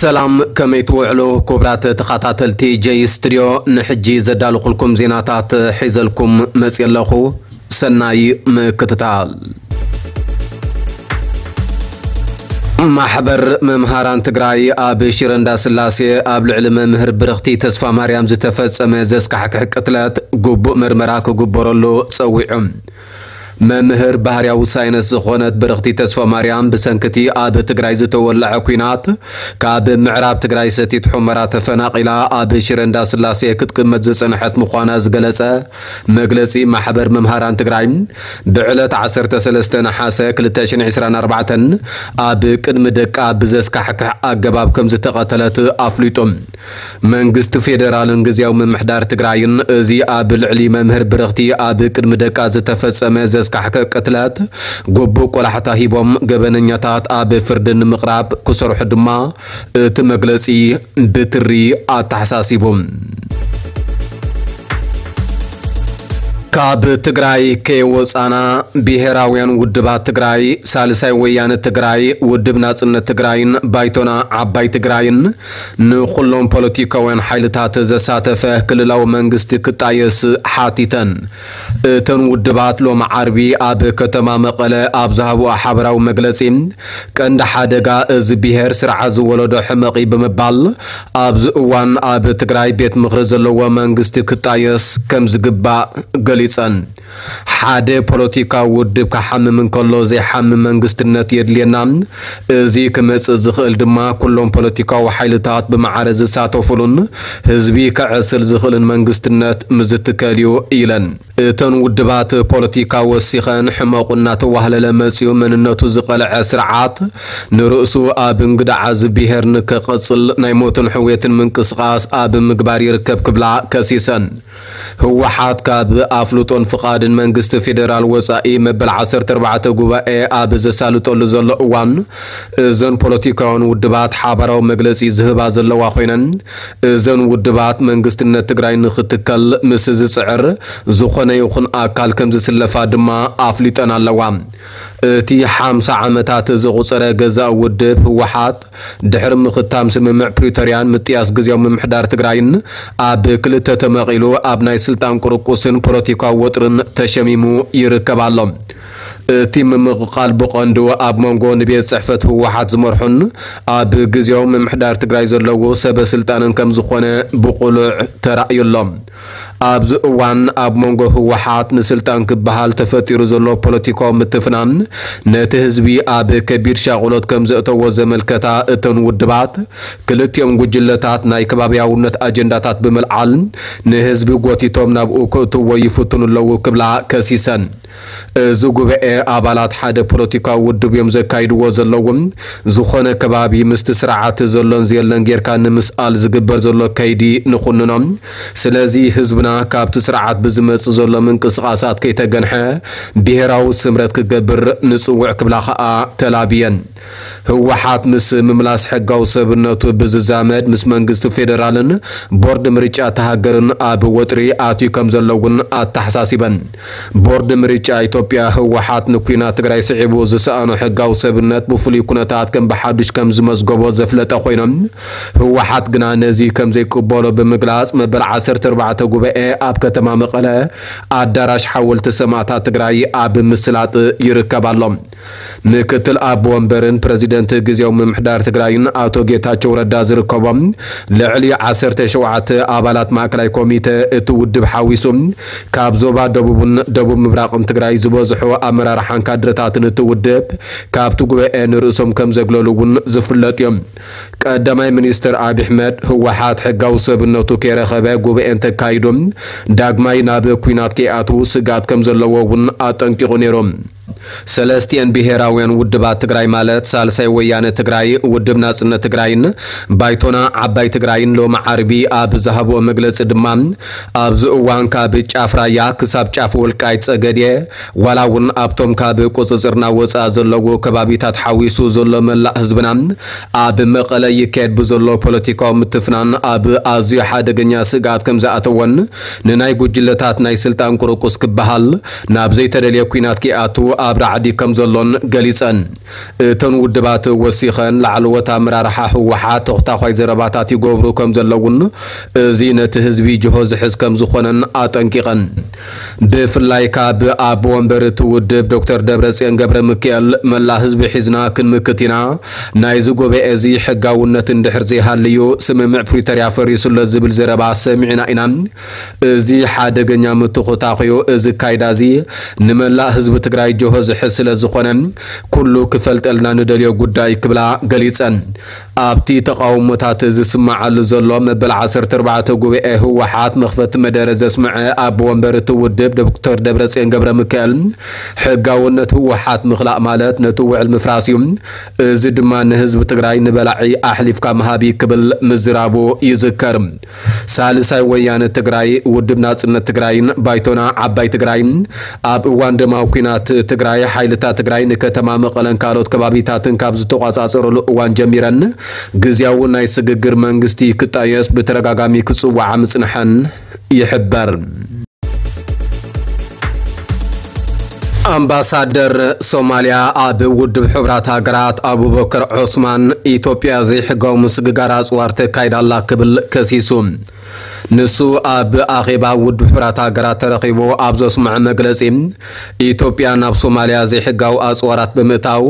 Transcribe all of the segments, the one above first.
ሰላም፣ ከመይ ትውዕሉ ክቡራት ተኸታተልቲ ጀይ ስቱድዮ? ንሕጂ ዘዳለኹልኩም ዜናታት ሒዘልኩም መፅየ ኣለኹ። ሰናይ ምክትታል። ማሕበር መምሃራን ትግራይ ኣብ ሽረ እንዳስላሴ ኣብ ልዕሊ መምህር ብርኽቲ ተስፋ ማርያም ዝተፈጸመ ዘስካሕክሕ ቅትለት ግቡእ ምርመራ ክግበረሉ ጸዊዑ። መምህር ባህርያዊ ሳይንስ ዝኾነት ብርኽቲ ተስፋ ማርያም ብሰንክቲ ኣብ ትግራይ ዝተወለዐ ኲናት ካብ ምዕራብ ትግራይ ሰቲት ሑመራ ተፈናቒላ ኣብ ሽረ እንዳስላሴ ክትቅመጥ ዝጸንሐት ምዃና ዝገለጸ መግለጺ ማሕበር መምሃራን ትግራይ ብዕለት ዓሰርተ ሰለስተ ነሓሰ ክልተ ሽሕን ዕስራን ኣርባዕተን ኣብ ቅድሚ ደቃ ብዘስካሕክሕ ኣገባብ ከም ዝተቐተለት ኣፍሊጡ። መንግስቲ ፌደራልን ግዝያዊ ምምሕዳር ትግራይን እዚ ኣብ ልዕሊ መምህር ብርኽቲ ኣብ ቅድሚ ደቃ ዝተፈጸመ ዘስካሕክሕ ቅትለት ግቡእ ቆላሕታ ሂቦም ገበነኛታት ኣብ ፍርዲ ንምቕራብ ክሰርሑ ድማ እቲ መግለጺ ብትሪ ኣተሓሳሲቡ። ካብ ትግራይ ከይወፃና ብሄራውያን ውድባት ትግራይ፣ ሳልሳይ ወያነ ትግራይ፣ ውድብ ናፅነት ትግራይን ባይቶና ዓባይ ትግራይን ንኩሎም ፖለቲካውያን ሓይልታት ዘሳተፈ ክልላዊ መንግስቲ ክጣየስ ሓቲተን። እተን ውድባት ሎሚ ዓርቢ ኣብ ከተማ መቐለ ኣብ ዝሃብኦ ሓበራዊ መግለፂ፣ ቀንዲ ሓደጋ እዚ ብሄር ስርዓት ዝወለዶ ሕመቕ እዩ ብምባል፣ ኣብዚ እዋን ኣብ ትግራይ ቤት ምኽሪ ዘለዎ መንግስቲ ክጣየስ ከም ዝግባእ ገሊጸን። ሓደ ፖለቲካዊ ውድብ ክሓምም እንከሎ ዘይሓምም መንግስትነት የድልየና። እዚ ክመጽእ ዝኽእል ድማ ኩሎም ፖለቲካዊ ሓይልታት ብማዕረ ዝሳተፉሉን ህዝቢ ከዕስል ዝኽእልን መንግስትነት ምዝትከል እዩ ኢለን። እተን ውድባት ፖለቲካ ወሲኸን ሕመቑ እናተዋህለለ መጺኡ መንነቱ ዝቐልዐ ስርዓት ንርእሱ ኣብ እንግዳዓ እዚ ብሄር ንክቐጽል ናይ ሞትን ሕውየትን ምንቅስቓስ ኣብ ምግባር ይርከብ ክብላ ከሲሰን። ህወሓት ካብ ኣፍልጦን ፍቓድን መንግስቲ ፌደራል ወጻኢ መበል ዓሰርተ ኣርባዕተ ጉባኤ ኣብ ዘሳልጠሉ ዘሎ እዋን እዘን ፖለቲካውያን ውድባት ሓባራዊ መግለጺ ዝህባ ዘለዋ ኮይነን እዘን ውድባት መንግስትነት ትግራይ ንክትከል ምስ ዝጽዕር ዝኾነ ይኹን ኣካል ከም ዝስለፋ ድማ ኣፍሊጠን ኣለዋ። እቲ ሓምሳ ዓመታት ዘቑጸረ ገዛእ ውድብ ህወሓት ድሕሪ ምኽታም ስምምዕ ፕሪቶርያን ምጥያስ ግዝያዊ ምምሕዳር ትግራይን ኣብ ክልተ ተመቒሉ ኣብ ናይ ስልጣን ቁርቁስን ፖለቲካዊ ወጥርን ተሸሚሙ ይርከብ ኣሎ። እቲ ምምቕቓል ብቐንዱ ኣብ መንጎ ንቤት ጽሕፈት ህወሓት ዝመርሑን ኣብ ግዝያዊ ምምሕዳር ትግራይ ዘለዉ ሰበ ስልጣንን ከም ዝኾነ ብቑሉዕ ተራእዩ ኣሎ። ኣብዚ እዋን ኣብ መንጎ ህወሓት ንስልጣን ክበሃል ተፈጢሩ ዘሎ ፖለቲካዊ ምትፍናን ነቲ ህዝቢ ኣብ ከቢድ ሻቕሎት ከም ዘእተዎ ዘመልከታ እተን ውድባት፣ ክልቲኦም ጉጅለታት ናይ ከባብያውነት ኣጀንዳታት ብምልዓል ንህዝቢ ጎቲቶም ናብኡ ክእትዎ ይፍትኑ ኣለዉ ክብላ ከሲሰን። እዚ ጉባኤ ኣባላት ሓደ ፖለቲካዊ ውድብ እዮም ዘካይድዎ ዘለዉ። ዝኾነ ከባቢ ምስቲ ስርዓት ዘሎን ዘየለን ጌርካ ንምስኣል ዝግበር ዘሎ ከይዲ ንኹንኖ። ስለዚ ህዝብና ካብቲ ስርዓት ብዝመጽእ ዘሎ ምንቅስቓሳት ከይተገንሐ ብሄራዊ ስምረት ክገብር ንጽውዕ ክብላ ከኣ ተላብየን። ህወሓት ምስ ምምላስ ሕጋዊ ሰብነቱ ብዝዛመድ ምስ መንግስቲ ፌደራልን ቦርድ ምርጫ እታ ሃገርን ኣብ ወጥሪ ኣትዩ ከም ዘሎ እውን ኣተሓሳሲበን። ቦርድ ምርጫ ኢትዮጵያ ህወሓት ንኲናት ትግራይ ስዒቡ ዝሰኣኖ ሕጋዊ ሰብነት ብፍሉይ ኩነታት ከም ብሓዱሽ ከም ዝመዝገቦ ዘፍለጠ ኮይኖም፣ ህወሓት ግና ነዚ ከም ዘይቅበሎ ብምግላጽ መበል ዓሰርተ ኣርባዕተ ጉባኤ ኣብ ከተማ መቐለ ኣዳራሽ ሓወልቲ ሰማእታት ትግራይ ኣብ ምስላጥ ይርከብ ኣሎ። ምክትል ኣቦ ወንበርን ፕረዚደንት ግዝያዊ ምምሕዳር ትግራይን ኣቶ ጌታቸው ረዳ ዝርከቦም ልዕሊ ዓሰርተ ሸውዓተ ኣባላት ማእከላይ ኮሚተ እቲ ውድብ ሓዊሱ ካብ ዞባ ደቡብን ደቡብ ምብራቕን ትግራይ ዝበዝሑ ኣመራርሓን ካድረታትን እቲ ውድብ ካብቲ ጉባኤ ንርእሶም ከም ዘግለሉ እውን ዝፍለጥ እዮም። ቀዳማይ ሚኒስትር ኣብይ ኣሕመድ ህወሓት ሕጋዊ ሰብነቱ ከይረኸበ ጉባኤ እንተካይዱ ዳግማይ ናብ ኲናት ከይኣትዉ ስግኣት ከም ዘለዎ እውን ኣጠንቂቑ ነይሩ። ሰለስቲኤን ብሄራውያን ውድባት ትግራይ ማለት ሳልሳይ ወያነ ትግራይ፣ ውድብ ናጽነት ትግራይን ባይቶና ዓባይ ትግራይን ሎሚ ዓርቢ ኣብ ዝሃብኦ መግለጺ ድማ ኣብዚ እዋን ካብ ጫፍ ራያ ክሳብ ጫፍ ወልቃይት ጸገዴ ዋላ እውን ኣብቶም ካብ ቁጽጽርና ወጻኢ ዘለዉ ከባቢታት ሓዊሱ ዘሎ መላእ ህዝብና ኣብ መቐለ ይካየድ ብዘሎ ፖለቲካዊ ምትፍናን ኣብ ኣዝዩ ሓደገኛ ስግኣት ከም ዝኣተወን ንናይ ጉጅለታት ናይ ስልጣን ቁርቁስ ክበሃል ናብ ዘይተደልየ ኲናት ከይኣቱ ኣብ ራዕዲ ከም ዘሎን ገሊጸን። እተን ውድባት ወሲኸን ላዕለዎት ኣመራርሓ ህወሓት ተኽታዃይ ዘረባታት ይገብሩ ከም ዘለውን፣ እዚ ነቲ ህዝቢ ጅሆ ዝሕዝ ከም ዝኾነን ኣጠንቂቐን። ብፍላይ ካብ ኣቦ ወንበር እቲ ውድብ ዶክተር ደብረጽዮን ገብረ ሚካኤል፣ መላእ ህዝቢ ሒዝና ክንምክት ኢና፣ ናይዚ ጉባኤ እዚ ሕጋውነት እንድሕር ዘይሃልዩ፣ ስምምዕ ፕሪቶርያ ፈሪሱሎ ዝብል ዘረባ ሰሚዕና ኢና። እዚ ሓደገኛ ምትኹታኹ እዩ። እዚ ካይዳ እዚ ንመላእ ህዝቢ ትግራይ ጅሆ ዝሕዝ ስለ ዝኾነ፣ ኩሉ ክፈልጠልና ንደልዮ ጉዳይ ክብላ ገሊጸን። ኣብቲ ተቓውሞታት ዝስማዓሉ ዘሎ መበል ዓሰርተ ኣርባዕተ ጉባኤ ህወሓት መኽፈቲ መደረ ዘስምዐ ኣቦ ወንበር እቲ ውድብ ዶክተር ደብረጽዮን ገብረ ሚካኤል፣ ሕጋውነት ህወሓት ምኽላእ ማለት ነቲ ውዕል ምፍራስ እዩ። እዚ ድማ ንህዝቢ ትግራይ ንበላዒ ኣሕሊፍካ ምሃብ እዩ ክብል ምዝራቡ ይዝከር። ሳልሳይ ወያነ ትግራይ፣ ውድብ ናጽነት ትግራይን ባይቶና ዓባይ ትግራይን ኣብ እዋን ደማዊ ኲናት ትግራይ፣ ሓይልታት ትግራይ ንከተማ መቐለን ካልኦት ከባቢታትን ካብ ዝተቋጻጸሩሉ እዋን ጀሚረን፣ ግዝያዊ ናይ ስግግር መንግስቲ ክጣየስ ብተደጋጋሚ ክጽውዓ ምጽንሐን ይሕበር። ኣምባሳደር ሶማልያ ኣብ ውድብ ሕቡራት ሃገራት ኣቡበከር ዑስማን፣ ኢትዮጵያ ዘይሕጋዊ ምስግጋር ኣጽዋር ተካይዳ ኣላ ክብል ከሲሱ። ንሱ ኣብ ኣኼባ ውድብ ሕቡራት ሃገራት ተረኺቡ ኣብ ዘስምዖ መግለጺ፣ ኢትዮጵያ ናብ ሶማልያ ዘይሕጋዊ ኣጽዋራት ብምእታው፣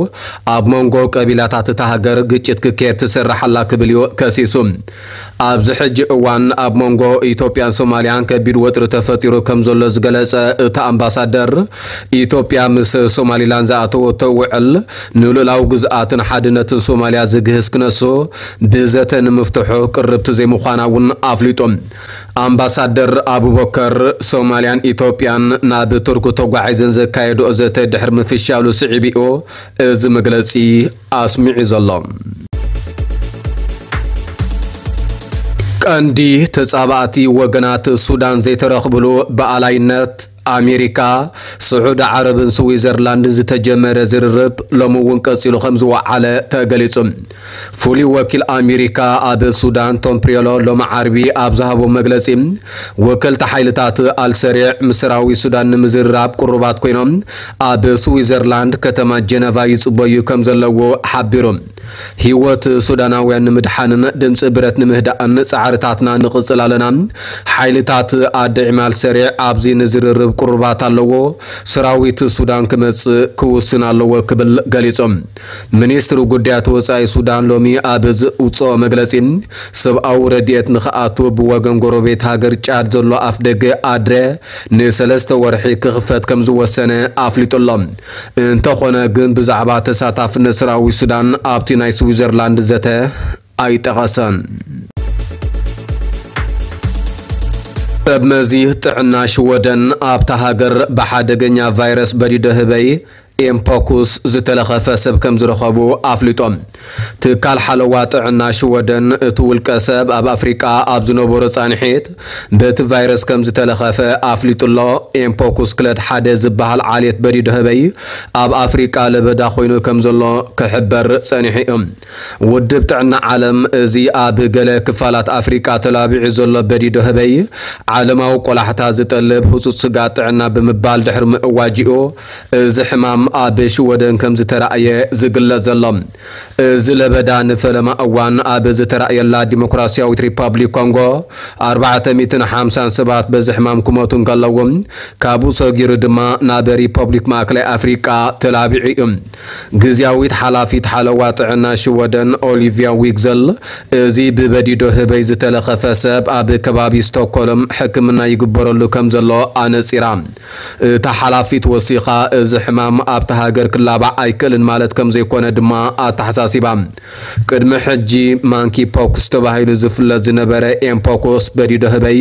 ኣብ መንጎ ቀቢላታት እታ ሃገር ግጭት ክካየድ ትሰርሕ ኣላ ክብል እዩ ከሲሱ። ኣብዚ ሕጂ እዋን ኣብ መንጎ ኢትዮጵያን ሶማልያን ከቢድ ወጥሪ ተፈጢሩ ከም ዘሎ ዝገለጸ እቲ ኣምባሳደር፣ ኢትዮጵያ ምስ ሶማሊላንድ ዝኣተወቶ ውዕል ንልኡላዊ ግዝኣትን ሓድነትን ሶማልያ ዝግህስ ክነሱ ብዘተ ንምፍትሑ ቅርብቲ ዘይምዃና እውን ኣፍሊጡ። ኣምባሳደር ኣቡበከር፣ ሶማልያን ኢትዮጵያን ናብ ቱርክ ተጓዒዘን ዘካየድኦ ዘተ ድሕሪ ምፍሻሉ ስዒቡ እዩ እዚ መግለጺ ኣስሚዑ ዘሎ። ቀንዲ ተጻባእቲ ወገናት ሱዳን ዘይተረኽብሉ ብኣላይነት ኣሜሪካ፣ ስዑዲ ዓረብን ስዊዘርላንድን ዝተጀመረ ዝርርብ ሎሚ እውን ቀጺሉ ከም ዝወዓለ ተገሊጹ። ፍሉይ ወኪል ኣሜሪካ ኣብ ሱዳን ቶም ፕሪዮሎ ሎሚ ዓርቢ ኣብ ዝሃቦ መግለጺ፣ ወከልቲ ሓይልታት ኣልሰሪዕ ምስ ሰራዊት ሱዳን ንምዝርራብ ቅሩባት ኮይኖም ኣብ ስዊዘርላንድ ከተማ ጀነቫ ይጽበዩ ከም ዘለዉ ሓቢሩ። ህይወት ሱዳናውያን ንምድሓንን ድምፂ ብረት ንምህዳእን ፃዕርታትና ንቕፅል ኣለና። ሓይልታት ኣደ ዒማል ሰሪዕ ኣብዚ ንዝርርብ ቅሩባት ኣለዎ። ሰራዊት ሱዳን ክመፅእ ክውስን ኣለዎ ክብል ገሊፆም። ሚኒስትሪ ጉዳያት ወፃኢ ሱዳን ሎሚ ኣብ ዝውፅኦ መግለፂ፣ ሰብኣዊ ረድኤት ንኽኣቱ ብወገን ጎረቤት ሃገር ጫድ ዘሎ ኣፍደገ ኣድረ ንሰለስተ ወርሒ ክኽፈት ከም ዝወሰነ ኣፍሊጡ ኣሎ። እንተኾነ ግን ብዛዕባ ተሳታፍነት ሰራዊት ሱዳን ኣብቲ ናይ ስዊዘርላንድ ዘተ ኣይጠቐሰን። ሰብ መዚ ጥዕና ሽወደን ኣብታ ሃገር ብሓደገኛ ቫይረስ በዲዶ ህበይ ኤምፖክስ ዝተለኸፈ ሰብ ከም ዝረኸቡ ኣፍሊጦም። ትካል ሓለዋ ጥዕና ሽወደን እቲ ውልቀ ሰብ ኣብ ኣፍሪቃ ኣብ ዝነበሮ ጻንሒት በቲ ቫይረስ ከም ዝተለኸፈ ኣፍሊጡ ኣሎ። ኤምፖክስ ክለድ ሓደ ዝበሃል ዓሌት በዲዶ ህበይ ኣብ ኣፍሪቃ ለበዳ ኮይኑ ከም ዘሎ ክሕበር ጸኒሑ እዩ። ውድብ ጥዕና ዓለም እዚ ኣብ ገለ ክፋላት ኣፍሪቃ ተላቢዑ ዘሎ በዲዶ ህበይ ዓለማዊ ቆላሕታ ዝጠልብ ህጹጽ ስግኣት ጥዕና ብምባል ድሕሪ ምእዋጅኡ፣ እዚ ሕማም ኣብ ሽወደን ከም ዝተራእየ ዝግለጽ ዘሎ። እዚ ለበዳ ንፈለማ እዋን ኣብ ዝተራእየላ ዲሞክራሲያዊት ሪፓብሊክ ኮንጎ ኣርባዕተ ሚእትን ሓምሳን ሰባት በዚ ሕማም ክሞቱ እንከለዉ፣ ካብኡ ሰጊሩ ድማ ናብ ሪፐብሊክ ማእከላይ ኣፍሪቃ ተላቢዑ እዩ። ግዝያዊት ሓላፊት ሓለዋ ጥዕና ሽወደን ኦሊቪያ ዊግዘል፣ እዚ ብበዲዶ ህበይ ዝተለኸፈ ሰብ ኣብ ከባቢ ስቶክሆልም ሕክምና ይግበረሉ ከም ዘሎ ኣነጺራ። እታ ሓላፊት ወሲኻ፣ እዚ ሕማም ኣብታ ሃገር ክላባዕ ኣይክእልን ማለት ከም ዘይኮነ ድማ ኣተሓሳሲባ። ቅድሚ ሕጂ ማንኪ ፖክስ ተባሂሉ ዝፍለጥ ዝነበረ ኤምፖክስ በዲዶ ህበይ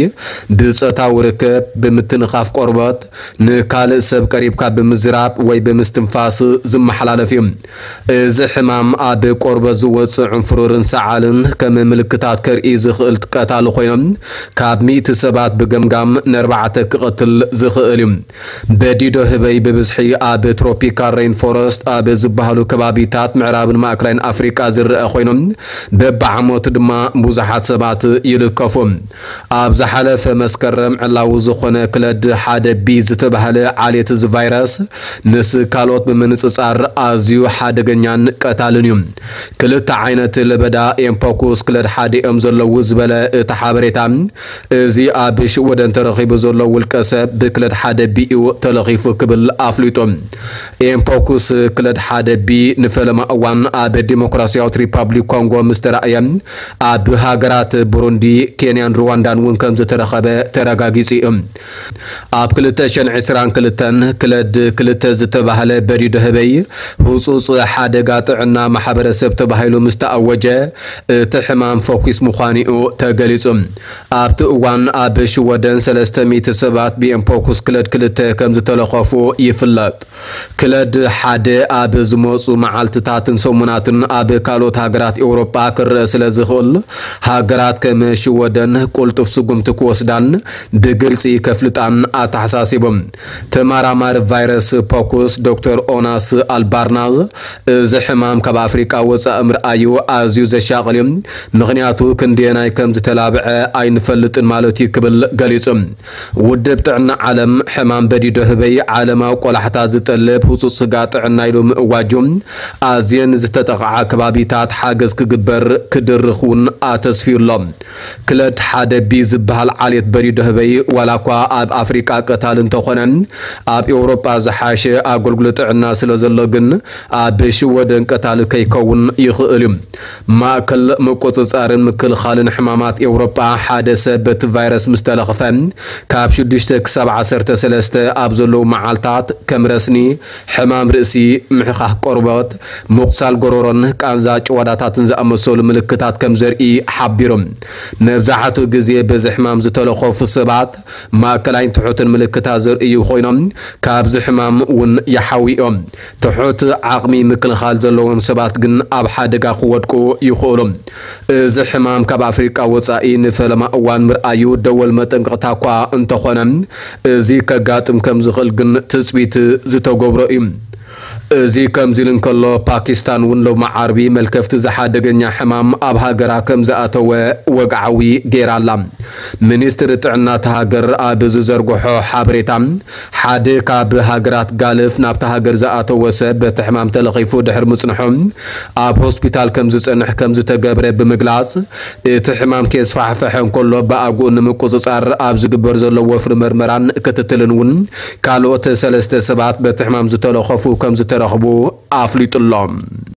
ብጾታዊ ርክብ፣ ብምትንኻፍ ቆርበት፣ ንካልእ ሰብ ቀሪብካ ብምዝራብ ወይ ብምስትንፋስ ዝመሓላለፍ እዩ። እዚ ሕማም ኣብ ቆርበት ዝወጽእ ዕንፍሩርን ሰዓልን ከም ምልክታት ከርኢ ዝኽእል ቀታሊ ኮይኖም፣ ካብ ሚእቲ ሰባት ብገምጋም ንኣርባዕተ ክቐትል ዝኽእል እዩ። በዲዶ ህበይ ብብዝሒ ኣብ ትሮፒካል ሬን ፎረስት ኣብ ዝበሃሉ ከባቢታት ምዕራብን ማእከላይን ኣፍሪቃ ዝረአ ኮይኑ፣ በብዓመቱ ድማ ብዙሓት ሰባት ይልከፉ። ኣብ ዝሓለፈ መስከረም ዕላዊ ዝኾነ ክለድ ሓደ ቢ ዝተባህለ ዓሌት እዚ ቫይረስ ምስ ካልኦት ብምንጽጻር ኣዝዩ ሓደገኛን ቀታልን እዩ። ክልተ ዓይነት ለበዳ ኤምፖክስ ክለድ ሓደ እዮም ዘለዉ ዝበለ እቲ ሓበሬታ፣ እዚ ኣብ ሽወደን ተረኺቡ ዘሎ ውልቀ ሰብ ብክለድ ሓደ ቢ እዩ ተለኺፉ ክብል ኣፍሊጡ። ኤምፖክስ ክለድ ሓደ ቢ ንፈለማ እዋን ኣብ ዲሞክራሲያዊት ሪፓብሊክ ኮንጎ ምስ ተራእየ፣ ኣብ ሃገራት ቡሩንዲ፣ ኬንያን ሩዋንዳን እውን ከም ዝተረኸበ ተረጋጊጹ እዩ። ኣብ ክልተ ሽሕን ዕስራን ክልተን ክለድ ክልተ ዝተባህለ በዲዶ ህበይ ህጹጽ ሓደጋ ጥዕና ማሕበረሰብ ተባሂሉ ምስ ተኣወጀ፣ እቲ ሕማም ፈኲስ ምዃኑ እዩ ተገሊጹ። ኣብቲ እዋን ኣብ ሽወደን ሰለስተ ሚእቲ ሰባት ብኤምፖክስ ክለድ ክልተ ከም ዝተለኸፉ ይፍለጥ። ክለድ ሓደ ኣብ ዝመጹ መዓልትታትን ሰሙናትን ኣብ ካልኦት ሃገራት ኤውሮጳ ክረአ ስለ ዝኽእል፣ ሃገራት ከም ሽወደን ቁልጡፍ ስጉምቲ ክወስዳን ብግልጺ ከፍልጣን ኣተሓሳሲቦም። ተመራማሪ ቫይረስ ፖኩስ ዶክተር ኦናስ ኣልባርናዝ፣ እዚ ሕማም ካብ ኣፍሪቃ ወጻኢ ምርኣዩ ኣዝዩ ዘሻቕል እዩ፣ ምኽንያቱ ክንደየናይ ከም ዝተላብዐ ኣይንፈልጥን ማለት እዩ ክብል ገሊጹ። ውድብ ጥዕና ዓለም ሕማም በዲዶ ህበይ ዓለማዊ ቆላሕታ ዝጠልብ ህጹጽ ስጋ ጥዕና ኢሉ ምእዋጁ፣ ኣዝየን ዝተጠቕዓ ከባቢታት ሓገዝ ክግበር ክድርኽ እውን ኣተስፍዩ ኣሎ። ክለድ ሓደ ቢ ዝበሃል ዓሌት በዲዶ ህበይ ዋላ እኳ ኣብ ኣፍሪቃ ቀታሊ እንተኾነ፣ ኣብ ኤውሮጳ ዝሓሸ ኣገልግሎት ጥዕና ስለ ዘሎ ግን ኣብ ሽወደን ቀታሊ ከይከውን ይኽእል እዩ። ማእከል ምቁጽጻርን ምክልኻልን ሕማማት ኤውሮጳ ሓደ ሰብ በቲ ቫይረስ ምስ ተለኽፈ ካብ ሽዱሽተ ክሳብ ዓሰርተ ሰለስተ ኣብ ዘለዉ መዓልታት ከም ረስኒ፣ ሕማም ርእሲ፣ ምሕኻኽ ቆርበት፣ ምቑሳል ጎሮሮን ቃንዛ ጭዋዳታትን ዝኣመሰሉ ምልክታት ከም ዘርኢ ሓቢሩ። መብዛሕትኡ ግዜ በዚ ሕማም ዝተለኸፉ ሰባት ማእከላይን ትሑትን ምልክታት ዘርእዩ ኮይኖም፣ ካብዚ ሕማም እውን ይሓውዩ እዮም። ትሑት ዓቕሚ ምክልኻል ዘለዎም ሰባት ግን ኣብ ሓደጋ ክወድቁ ይኽእሉ። እዚ ሕማም ካብ ኣፍሪቃ ወጻኢ ንፈለማ እዋን ምርኣዩ ደወል መጠንቀቕታ እኳ እንተኾነ፣ እዚ ከጋጥም ከም ዝኽእል ግን ትጽቢት ዝተገብሮ እዩ። እዚ ከምዚ ኢሉ እንከሎ፣ ፓኪስታን እውን ሎሚ ዓርቢ መልከፍቲ ዝሓደገኛ ሕማም ኣብ ሃገራ ከም ዝኣተወ ወግዓዊ ገይራ ኣላ። ሚኒስትሪ ጥዕና እታ ሃገር ኣብ ዝዘርግሖ ሓበሬታ፣ ሓደ ካብ ሃገራት ጋልፍ ናብታ ሃገር ዝኣተወ ሰብ በቲ ሕማም ተለኺፉ ድሕሪ ምጽንሑ፣ ኣብ ሆስፒታል ከም ዝጸንሕ ከም ዝተገብረ ብምግላጽ፣ እቲ ሕማም ከየስፋሕፈሐ እንከሎ ብኣግኡ ንምቁጽጻር ኣብ ዝግበር ዘሎ ወፍሪ መርመራን ክትትልን እውን ካልኦት ሰለስተ ሰባት በቲ ሕማም ዝተለኸፉ ከም ዝተረኽቡ ኣፍሊጡ ኣሎ።